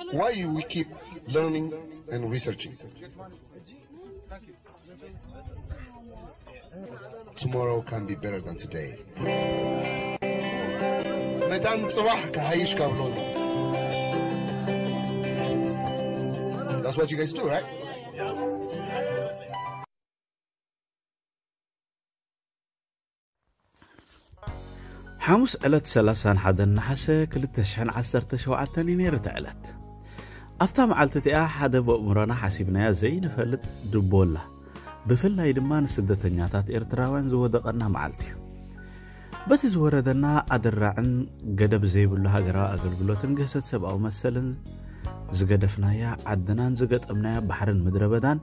Why we keep learning and researching? Tomorrow can be better than today. መታን ጽባሕ ክሓይሽ ካብ ሎሚ። That's what you guys do, right? ሓሙስ ዕለት ሰላሳን ሓደን ነሓሰ ክልተ ሽሕን ዓሰርተ ሸውዓተን እዩ ነይሩ እቲ ዕለት። ኣብታ መዓልቲ እቲኣ ሓደ ብእምሮና ሓሲብናያ ዘይንፈልጥ ድቦላ፣ ብፍላይ ድማ ንስደተኛታት ኤርትራውያን ዝወደቐና መዓልቲ እዩ። በቲ ዝወረደና ኣደራዕን ገደብ ዘይብሉ ሃገራዊ ኣገልግሎትን ግህሰት ሰብኣዊ መሰልን ዝገደፍናያ ዓድናን ዝገጠምናያ ባሕርን ምድረ በዳን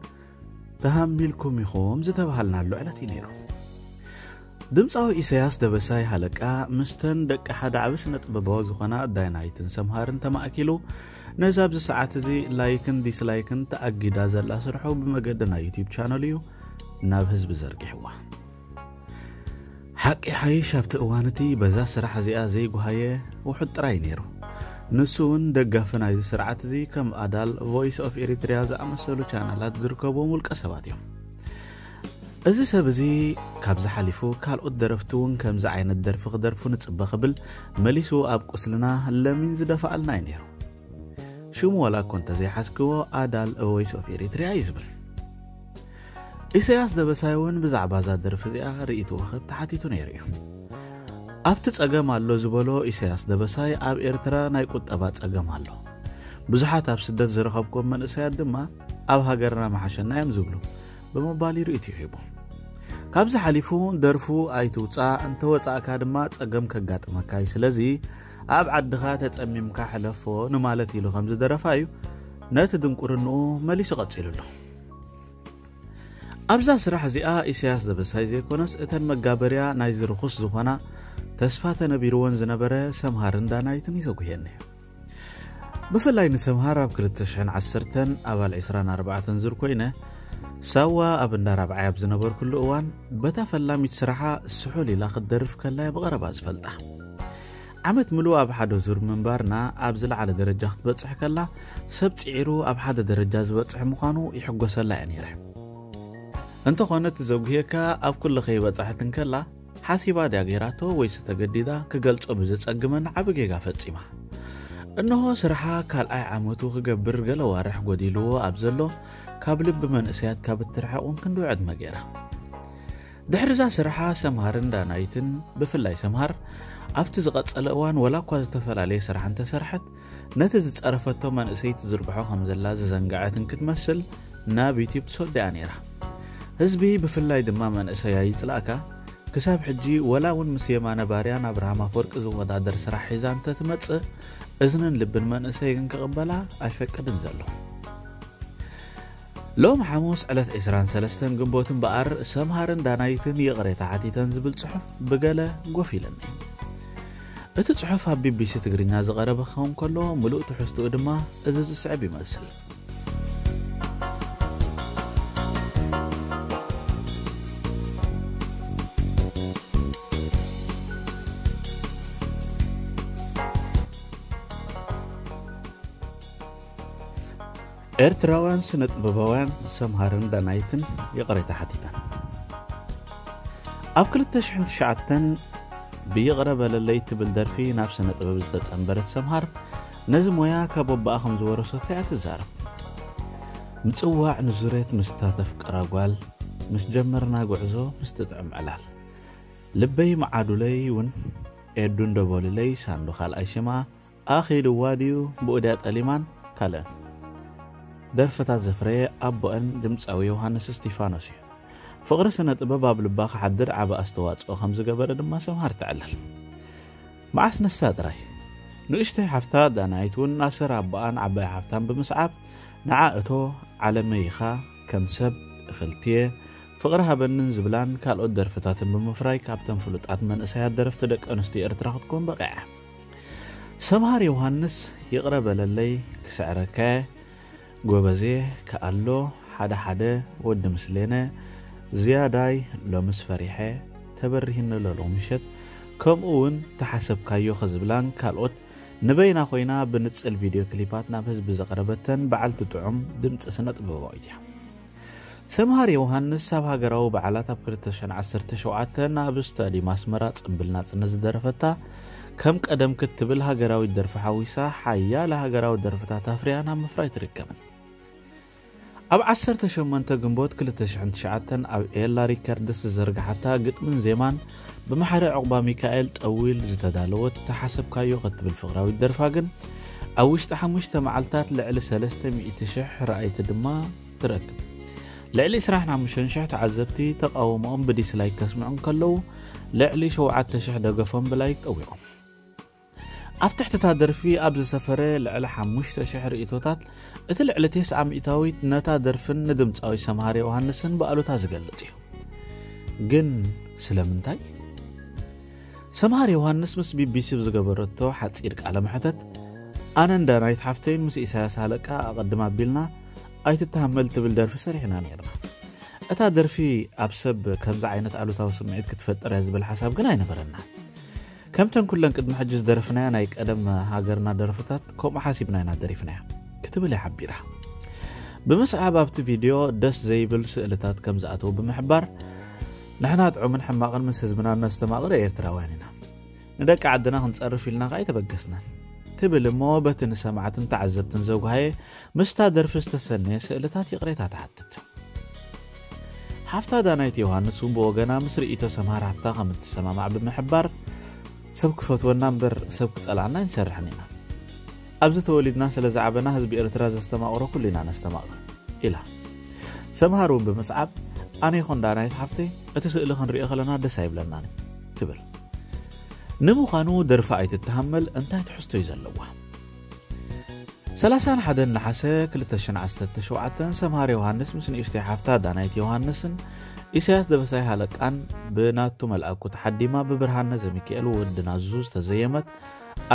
ተሃሚልኩም ኢኹም ዝተባሃልናሉ ዕለት እዩ ነይሩ። ድምፃዊ ኢሳያስ ደበሳይ ሃለቃ ምስተን ደቂ ሓደ ዓቢ ስነ ጥበባዊ ዝኾና ዳይናይትን ሰምሃርን ተማእኪሉ ነዚ ኣብዚ ሰዓት እዚ ላይክን ዲስላይክን ተኣጊዳ ዘላ ስርሑ ብመገዲ ናይ ዩቲዩብ ቻነል እዩ ናብ ህዝቢ ዘርጊሕዋ። ሓቂ ሓይሽ ኣብቲ እዋን እቲ በዛ ስራሕ እዚኣ ዘይጓሃየ ውሑድ ጥራይ ነይሩ። ንሱ እውን ደጋፊ ናይዚ ስርዓት እዚ ከም ኣዳል፣ ቮይስ ኦፍ ኤሪትሪያ ዝኣመሰሉ ቻነላት ዝርከብዎም ውልቀ ሰባት እዮም። እዚ ሰብ እዚ ካብዚ ሓሊፉ ካልኦት ደረፍቲ እውን ከምዚ ዓይነት ደርፊ ክደርፉ ንጽበ ክብል መሊሱ ኣብ ቁስልና ለሚን ዝደፍኣልና እዩ ነይሩ። ሽሙ ዋላ እኮ እንተዘይሓዝክዎ ኣዳል ቮይስ ኦፍ ኤሪትሪያ እዩ ዝብል። ኢሳያስ ደበሳይ እውን ብዛዕባ እዛ ደርፊ እዚኣ ርእይትኡ ክህብ ተሓቲቱ ነይሩ እዩ። ኣብቲ ጸገም ኣሎ ዝበሎ ኢሳያስ ደበሳይ ኣብ ኤርትራ ናይ ቁጠባ ጸገም ኣሎ። ብዙሓት ኣብ ስደት ዝረኸብኩም መንእሰያት ድማ ኣብ ሃገርና መሓሸና እዮም ዝብሉ ብምባል እዩ ርእይትኡ ሂቡ። ካብዚ ሓሊፉ ደርፉ ኣይትውጻእ እንተወጻእካ ድማ ጸገም ከጋጥመካ እዩ። ስለዚ ኣብ ዓድኻ ተጸሚምካ ሕለፎ ንማለት ኢሉ ከም ዝደረፋ እዩ ነቲ ድንቁርንኡ መሊሱ ቀጺሉሉ። ኣብዛ ስራሕ እዚኣ ኢሳያስ ደበሳይ ዘይኮነስ እተን መጋበርያ ናይዚ ርኹስ ዝኾና ተስፋ ተነቢርወን ዝነበረ ሰምሃርን ዳናይትን እዩ ዘጉህየኒ። ብፍላይ ንሰምሃር ኣብ ክልተ ሽሕን ዓሰርተን ኣባል ዕስራን ኣርባዕተን ዙር ኮይነ ሳዋ ኣብ እንዳ ራብዓይ ኣብ ዝነበርኩሉ እዋን በታ ፈላሚት ስራሓ ስሑል ኢላ ክትደርፍ ከላ እየ ብቐረባ ዝፈልጣ። ዓመት ምሉእ ኣብ ሓደ ዙር ምንባርና ኣብ ዝለዓለ ደረጃ ክትበጽሕ ከላ ሰብ ጽዒሩ ኣብ ሓደ ደረጃ ዝበጽሕ ምዃኑ ይሕጎሰላ እየ ነይረ። እንተኾነ እቲ ዘጉህየካ ኣብ ኩሉ ከይበጽሐት እንከላ ሓሲባ ድያ ገይራቶ ወይስ ተገዲዳ ክገልጾ ብዝጸግመኒ ዓቢ ጌጋ ፈጺማ። እንሆ ስርሓ ካልኣይ ዓመቱ ክገብር ገለ ዋርሕ ጎዲልዎ ኣብ ዘሎ ካብ ልቢ መንእሰያት ካብ እትርሕቕ እውን ክንደይ ዕድመ ገይራ። ድሕሪ እዛ ስርሓ ሰምሃርን ዳናይትን ብፍላይ ሰምሃር ኣብቲ ዝቐጸለ እዋን ወላ እኳ ዝተፈላለየ ስራሕ እንተሰርሐት ነቲ ዝጸረፈቶ መንእሰይ ትዝርግሖ ከም ዘላ ዝዘንግዐት እንክትመስል ናብ ዩቲዩብ ትሰዶ እያ ነይራ። ህዝቢ ብፍላይ ድማ መንእሰይ ኣይጽላእካ ክሳብ ሕጂ ወላ እውን ምስ የማነ ባርያን ኣብርሃም ኣፈወርቂ ዝወዳደር ስራሕ ሒዛ እንተትመጽእ እዝንን ልብን መንእሰይ ግን ክቕበላ ኣይፈቅድን ዘሎ። ሎም ሓሙስ ዕለት ዕስራን ሰለስተን ግንቦት እምበኣር ሰምሃርን ዳናይትን ይቕሬታ ሓቲተን ዝብል ጽሑፍ ብገለ ጎፍ ኢለኒ። እቲ ጽሑፍ ኣብ ቢቢሲ ትግርኛ ዝቐረበ ክኸውን ከሎ ምሉእ ትሕዝትኡ ድማ እዚ ዝስዕብ ይመስል። ኤርትራውያን ስነ ጥበባውያን ሰምሃርን ዳናይትን ይቕሬታ ሓቲተን። ኣብ ክልተ ሽሕን ትሽዓተን ብይቕረ በለለይ ትብል ደርፊ ናብ ስነ ጥበብ ዝተጸንበረት ሰምሃር ነዚ ሞያ ካብ ኣቦኣ ከም ዝወረሰቶ እያ ትዛረብ። ምጽዋዕ ንዙሬት ምስታ ተፍቅራ ጓል ምስ ጀመርና ጉዕዞ ምስ ትጥዕም ዕላል ልበይ መዓዱለይ እውን ኤዱ እንደበሉለይ ሳንዶ ካልኣይ ሽማ ኣኺልዋ ድዩ ብኡድያ ጠሊማን ካልእን ደርፍታት ዘፍረየ ኣቦአን ድምፃዊ ዮሃንስ እስቲፋኖስ እዩ። ፍቕሪ ስነ ጥበብ ኣብ ልባ ክሓድር ዓቢ ኣስተዋፅኦ ከም ዝገበረ ድማ ሰምሃር ትዕልል። መዓስ ነሳ ጥራይ ንእሽተይ ሓፍታ ዳናይት እውን ናስር ኣቦኣን ዓባይ ሓፍታን ብምስዓብ ንዓ እቶ ዓለመይ ኢኻ ከም ሰብ እኽልትየ ፍቕሪ ሃበንን ዝብላን ካልኦት ደርፍታትን ብምፍራይ ካብተን ፍሉጣት መንእሰያት ደረፍቲ ደቂ ኣንስትዮ ኤርትራ ክትኮን በቒዓ። ሰምሃር ዮሃንስ ይቕረ በለለይ ክስዕረካየ ጎበዜ ከኣሎ ሓደ ሓደ ወዲ ምስሌነ ዝያዳይ ሎምስ ፈሪሐ ተበሪህኒ ለሎ ምሸት ከምኡ እውን ተሓሰብካዮ ከዝብላን ካልኦት ንበይና ኮይና ብንጽል ቪድዮ ክሊፓት ናብ ህዝቢ ዘቕረበተን በዓልቲ ጥዑም ድምጺ ስነ ጥበባዊት እያ። ሰምሃር ዮሃንስ ኣብ ሃገራዊ በዓላት ኣብ ክልተ ሽሕን ዓሰርተ ሸውዓተን ኣብ ስታዲየም ኣስመራ ጽምብል ናጽነት ዝደረፈታ፣ ከም ቀደም ክትብል ሃገራዊት ደርፊ ሓዊሳ ሓያለ ሃገራዊ ደርፍታት ኣፍርያ ናብ ምፍራይ ትርከብን። ኣብ ዓሰርተ ሸሞንተ ግንቦት ክልተ ሽሕን ትሽዓተን ኣብ ኤላ ሪከርድስ ዝዘርግሓታ ግጥምን ዜማን ብመሓሪ ዑቕባ ሚካኤል ጠዊል ዝተዳለወት ተሓሰብካዮ ክትብል ፍቕራዊት ደርፋ ግን ኣብ ውሽጢ ሓሙሽተ መዓልታት ልዕሊ ሰለስተ ሚእቲ ሽሕ ረኣይቲ ድማ ትረክብ። ልዕሊ ዕስራን ሓሙሽተን ሽሕ ተዓዘብቲ ተቓውሞኦም ብዲስላይክ ከስምዑ እንከለዉ፣ ልዕሊ ሸውዓተ ሽሕ ደገፎም ብላይክ ጠዊቖም። ኣብ ትሕቲ እታ ደርፊ ኣብ ዝሰፈረ ልዕሊ ሓሙሽተ ሽሕ ርእይቶታት፣ እቲ ልዕሊ ተስዓ ሚእታዊት ነታ ደርፍን ንድምጻዊ ሰምሃር ዮሃንስን ብኣሉታ ዝገልጽ እዩ። ግን ስለምንታይ? ሰምሃር ዮሃንስ ምስ ቢቢሲ ብዝገበረቶ ሓጺር ቃለ መሕተት፣ ኣነን ዳናይት ሓፍተይን ምስ ኢሳያስ ሃለቃ ኣቐድም ኣቢልና ኣይትተሃመል ትብል ደርፊ ሰሪሕና ነይርና። እታ ደርፊ ኣብ ሰብ ከምዚ ዓይነት ኣሉታዊ ስምዒት ክትፈጥር እያ ዝብል ሓሳብ ግን ኣይነበረና። ከምተን ኩለን ቅድሚ ሕጂ ዝደረፍናያ ናይ ቀደም ሃገርና ደርፍታት ከምኡ ሓሲብና ኢና ደሪፍናያ ክትብል እያ ሓቢራ። ብምስዓብ ኣብቲ ቪድዮ ደስ ዘይብል ስእልታት ከም ዝኣተው ብምሕባር፣ ንሕና ጥዑምን ሕማቕን ምስ ህዝብና እነስተማቕር ኤርትራውያን ኢና። ንደቂ ዓድና ክንጸርፍ ኢልና ከኣ ኣይተበገስናን ትብል እሞ በቲ ንሰማዕትን ተዓዘብትን ዘጉሃየ ምስታ ደርፊ ዝተሰነየ ስእልታት ይቕሬታ ትሓትት። ሓፍታ ዳናይት ዮሃንስ እውን ብወገና ምስ ርእይቶ ሰምሃር ሓፍታ ከም እትሰማማዕ ብምሕባር፣ ሰብ ክፈትወና እምበር ሰብ ክጸልኣና ኣይንሰርሕን ኢና። ኣብዚ ተወሊድና ስለ ዝዓበና ህዝቢ ኤርትራ ዘስተማቕሮ ኩሉ ኢና ነስተማቕር ኢላ። ሰምሃር እውን ብምስዓብ ኣነ ይኹን ዳናይት ሓፍተይ እቲ ስእሊ ክንሪኦ ከለና ደስ ኣይብለናን እዩ ትብል። ንምዃኑ ደርፊ ኣይትተሃመል እንታይ ትሕዝቶ እዩ ዘለዋ? ሰላሳን ሓደን ነሓሰ ክልተ ሽሕን ዓሰርተ ሸውዓተን ሰምሃር ዮሃንስ ምስ ንእሽተይ ሓፍታ ዳናይት ዮሃንስን ኢሳያስ ደበሳይ ሃለቃን ብናቱ መልኣኩ ተሓዲማ ብብርሃነ ዘሚካኤል ወዲ ናዙ ዝተዘየመት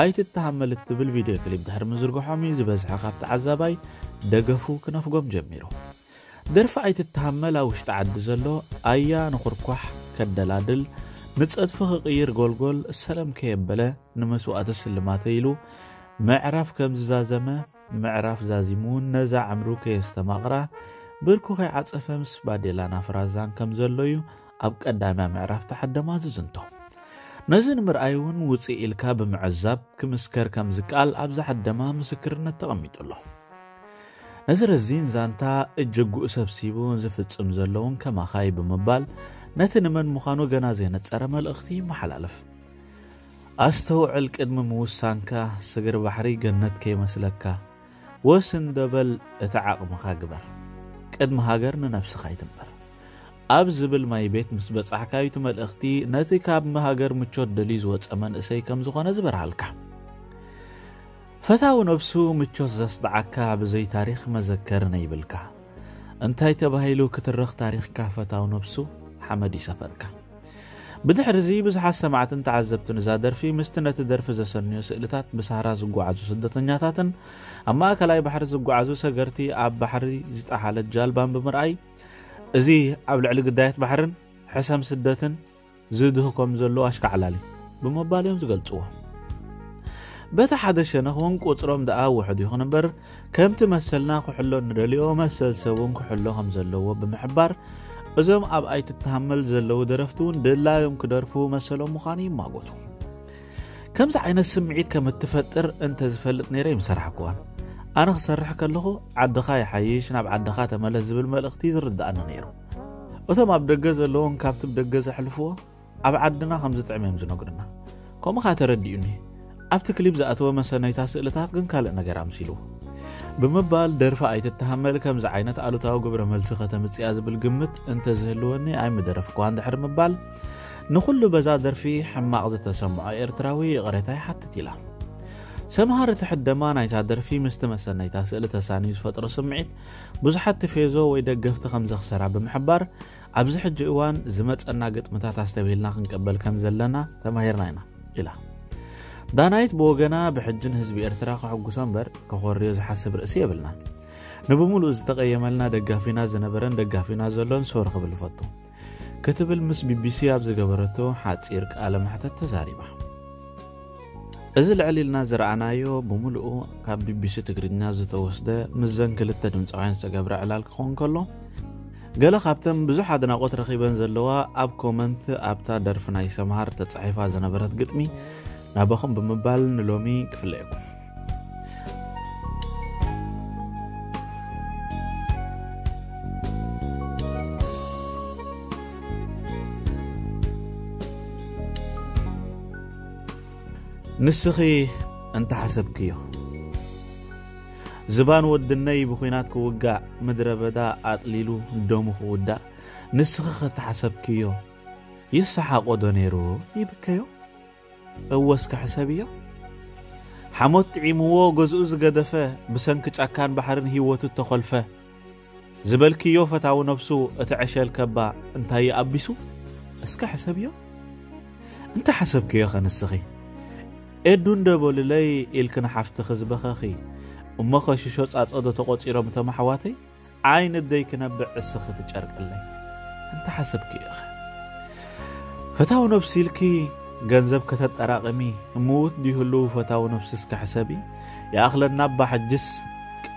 ኣይትተሃመል እትብል ቪድዮ ክሊፕ ድሕሪ ምዝርግሖም እዩ ዝበዝሐ ካብ ተዓዛባይ ደገፉ ክነፍጎም ጀሚሩ። ደርፊ ኣይትተሃመል ኣብ ውሽጢ ዓዲ ዘሎ ኣያ ንኹርኳሕ ከደላድል፣ ንጸድፊ ክቕይር ጎልጎል ሰለም ከየበለ ንመስዋእቲ ስልማተ ኢሉ ምዕራፍ ከም ዝዛዘመ፣ ምዕራፍ ዛዚሙ እውን ነዛ ዕምሩ ከየስተማቕራ ብርኩ ከይዓጸፈ ምስ ባዴላን ኣፍራዛን ከም ዘሎ እዩ ኣብ ቀዳምያ ምዕራፍ ተሓደማ ዝዝንቶ። ነዚ ንምርኣይ እውን ውጽእ ኢልካ ብምዕዛብ ክምስከር ከም ዝከኣል ኣብዛ ሓደማ ምስክርነት ተቐሚጡ ኣሎ። ነዚ ረዚን ዛንታ እጅጉኡ ሰብሲቡ ዝፍጽም ዘሎ እውን ከማኻ እዩ ብምባል ነቲ ንመን ምዃኑ ገና ዘይነጸረ መልእኽቲ ይመሓላለፍ። ኣስተውዕል ቅድሚ ምውሳንካ፣ ስግር ባሕሪ ገነት ከይመስለካ። ወስ እንዶ በል እቲ ዓቕምኻ ግበር። ቅድሚ ሃገር ንነብስኻ ይትንበር። ኣብ ዝብል ማይ ቤት ምስ በጻሕካ እዩ እቲ መልእኽቲ ነቲ ካብ ሃገር ምቾት ደልዩ ዝወጸ መንእሰይ ከም ዝኾነ ዝበርሃልካ። ፈታዊ ነብሱ ምቾት ዘስጥዓካ ብዘይ ታሪኽ መዘከሪ ነይብልካ። እንታይ ተባሂሉ ክትረኽ ታሪኽካ ፈታዊ ነብሱ ሓመድ ይሰፈርካ። ብድሕሪ እዚ ብዙሓት ሰማዕትን ተዓዘብትን እዛ ደርፊ ምስቲ ነቲ ደርፊ ዘሰንዮ ስእልታት ብሳህራ ዝጓዓዙ ስደተኛታትን ኣብ ማእከላይ ባሕሪ ዝጓዓዙ ሰገርቲ ኣብ ባሕሪ ዝጠሓለት ጃልባን ብምርኣይ፣ እዚ ኣብ ልዕሊ ግዳያት ባሕርን ሕሰም ስደትን ዝድህ ከም ዘሎ ኣሽካዕላል እዩ ብምባል እዮም ዝገልጽዎ። በቲ ሓደ ሸነኽ እውን ቁጽሮም ደኣ ውሑድ ይኹን እምበር፣ ከምቲ መሰልና ክሕሎ ንደልዮ መሰል ሰብ እውን ክሕሎ ከም ዘለዎ ብምሕባር፣ እዞም ኣብ ኣይትተሃመል ዘለዉ ደረፍቲ እውን ድላዮም ክደርፉ መሰሎም ምዃኑ ይማጎቱ። ከምዚ ዓይነት ስምዒት ከም እትፈጥር እንተ ዝፈልጥ ነይረ ኣይምሰራሕክዋን። ኣነ ክሰርሕ ከለኹ ዓድኻ ይሓይሽ፣ ናብ ዓድኻ ተመለስ ዝብል መልእኽቲ ዝርድኣኒ ነይሩ። እቶም ኣብ ደገ ዘለዉን ካብቲ ብደገ ዘሕልፍዎ ኣብ ዓድና ከም ዝጥዕም እዮም ዝነግሩና። ከምኡ ከኣ ተረዲኡኒ። ኣብቲ ክሊፕ ዝኣተወ መሰነይታ ስእልታት ግን ካልእ ነገር ኣምሲሉ። ብምባል ደርፊ ኣይትተሃመል ከምዚ ዓይነት ኣሉታዊ ግብረ መልሲ ከተምጽእ እያ ዝብል ግምት እንተዝህልወኒ ኣይምደረፍኩዋን ድሕሪ ምባል፣ ንኹሉ በዛ ደርፊ ሕማቕ ዝተሰምዖ ኤርትራዊ ይቕሬታ ይሓትት ኢላ። ሰምሃር እቲ ሕደማ ናይታ ደርፊ ምስቲ መሰነይታ ስእሊ ተሳንዩ ዝፈጥሮ ስምዒት ብዙሓት ቲፌዞ ወይ ደገፍቲ ከም ዘኽሰራ ብምሕባር፣ ኣብዚ ሕጂ እዋን ዝመጸና ግጥምታት ኣስተብሂልና ክንቅበል ከም ዘለና ተማሂርና ኢና ኢላ። ዳናይት ብወገና ብሕጂ ንህዝቢ ኤርትራ ከሐጉሶ እምበር ከኾርዮ ዝሓስብ ርእሲ የብልናን። ንብምሉኡ ዝተቐየመልና ደጋፊና ዝነበረን ደጋፊና ዘሎን ሶሪ ክብል እፈቱ ክትብል ምስ ቢቢሲ ኣብ ዝገበረቶ ሓጺር ቃለ መሕተት ተዛሪባ። እዚ ልዕል ኢልና ዝረኣናዮ ብምሉኡ ካብ ቢቢሲ ትግርኛ ዝተወስደ ምስ ዘን ክልተ ድምፃውያን ዝተገብረ ዕላል ክኸውን ከሎ፣ ገለ ካብተን ብዙሕ ኣድናቖት ረኺበን ዘለዋ ኣብ ኮመንት ኣብታ ደርፊ ናይ ሰምሃር ተጻሒፋ ዝነበረት ግጥሚ ናባኹም ብምባል ንሎሚ ክፍለየኩም። ንስኺ እንተሓሰብክዮ፣ ዝባን ወድነይ ብኹናት ክውጋእ፣ ምድረ በዳ ኣጥሊሉ ደሙ ክውዳእ፣ ንስኺ ከተሓሰብክዮ፣ ይሰሓቆ ዶ ነይሩ ይብከዮ? እወ እስከ ሕሰብዮ። ሓሞት ጥዒምዎ ገዝኡ ዝገደፈ፣ ብሰንኪ ጫካን ባሕርን ህይወቱ እተኾልፈ፣ ዝበልክዮ ፈታዊ ነብሱ እቲ ዕሸል ከባ እንታይ ይኣቢሱ? እስከ ሕሰብዮ። እንተ ሓሰብክዮ ኸ ንስኺ? ኤዱ እንደ በሉለይ ኢልክን ሓፍትኺ ዝበኸኺ፣ እሞ ኸ ሽሾ ጻጸዶ ተቖጺሮም እቶም ኣሕዋተይ? ዓይኒ ደይ ክነብዕ እስኺ ትጨርቅለይ። እንተ ሓሰብክዮ ኸ? ፈታዊ ነብሲ ኢልኪ ገንዘብ ከተጠራቕሚ፣ ምዉት ድዩ ህልው ፈታዊ ነብሲ እስከ ሕሰቢ። ይኣኽለና እባ ሕጅስ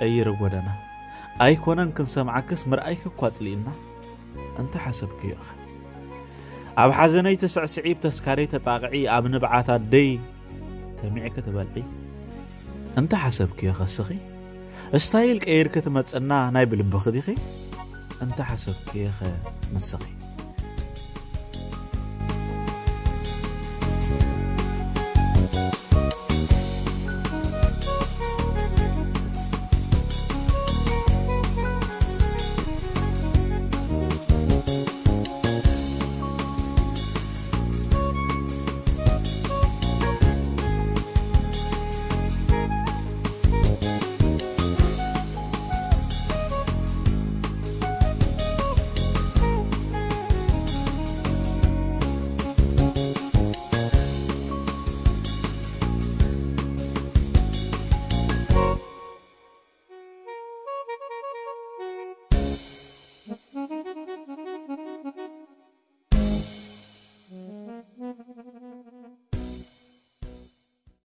ቀይሪ ጎደና። ኣይኮነን ክንሰምዓክስ ምርኣይኪ እኳ ኣጽሊእና። እንተ ሓሰብክዮ ኸ? ኣብ ሓዘነይ ትስዕስዒ፣ ብተስካረይ ተጣቕዒ፣ ኣብ ንብዓት ኣደይ ተሚዕኪ ትበልዒ። እንተ ሓሰብክዮ ኸ እስኺ? ስታይል ቀይርኪ ትመጽና ናይ ብልብኺ ዲኺ? እንተ ሓሰብክዮ ኸ ንስኺ?